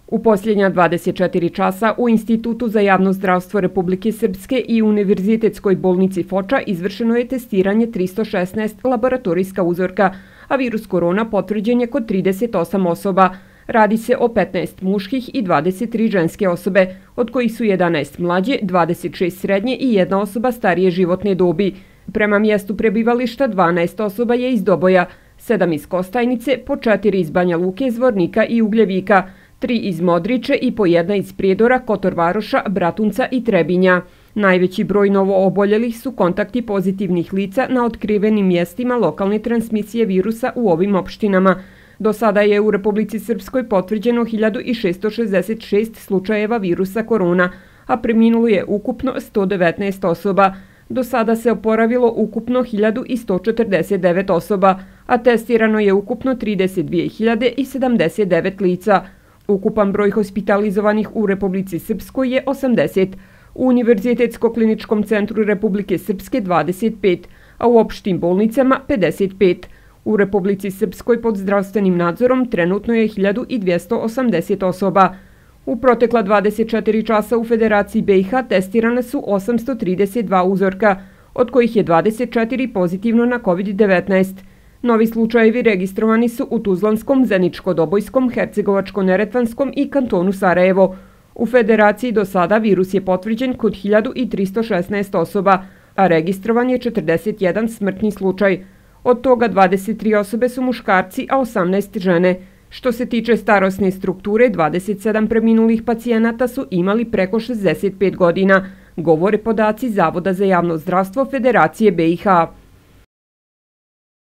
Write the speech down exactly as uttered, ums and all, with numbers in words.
U posljednja dvadeset četiri časa u Institutu za javno zdravstvo Republike Srpske i Univerzitetskoj bolnici Foča izvršeno je testiranje tristo šesnaest laboratorijska uzorka, a virus korona potvrđen je kod trideset osam osoba. Radi se o petnaest muških i dvadeset tri ženske osobe, od kojih su jedanaest mlađe, dvadeset šest srednje i jedna osoba starije životne dobi. Prema mjestu prebivališta dvanaest osoba je iz Doboja, sedam iz Kostajnice, po četiri iz Banja Luke, Zvornika i Ugljevika, tri iz Modriče i po jedna iz Prijedora, Kotor Varoša, Bratunca i Trebinja. Najveći broj novo oboljelih su kontakti pozitivnih lica na otkrivenim mjestima lokalne transmisije virusa u ovim opštinama. Do sada je u Republici Srpskoj potvrđeno hiljadu šesto šezdeset šest slučajeva virusa korona, a preminulo je ukupno sto devetnaest osoba. Do sada se oporavilo ukupno hiljadu sto četrdeset devet osoba, a testirano je ukupno trideset dvije hiljade sedamdeset devet lica. Ukupan broj hospitalizovanih u Republici Srpskoj je osamdeset, u Univerzitetsko-kliničkom centru Republike Srpske dvadeset pet, a u opštim bolnicama pedeset pet. U Republici Srpskoj pod zdravstvenim nadzorom trenutno je hiljadu dvjesto osamdeset osoba. U protekla dvadeset četiri časa u Federaciji B i H testirane su osamsto trideset dva uzorka, od kojih je dvadeset četiri pozitivno na kovid devetnaest. Novi slučajevi registrovani su u Tuzlanskom, Zeničko-Dobojskom, Hercegovačko-Neretvanskom i kantonu Sarajevo. U Federaciji do sada virus je potvrđen kod hiljadu tristo šesnaest osoba, a registrovan je četrdeset jedan smrtni slučaj. Od toga dvadeset tri osobe su muškarci, a osamnaest žene. Što se tiče starosne strukture, dvadeset sedam preminulih pacijenata su imali preko šezdeset pet godina, govore podaci Zavoda za javno zdravstvo Federacije B i H.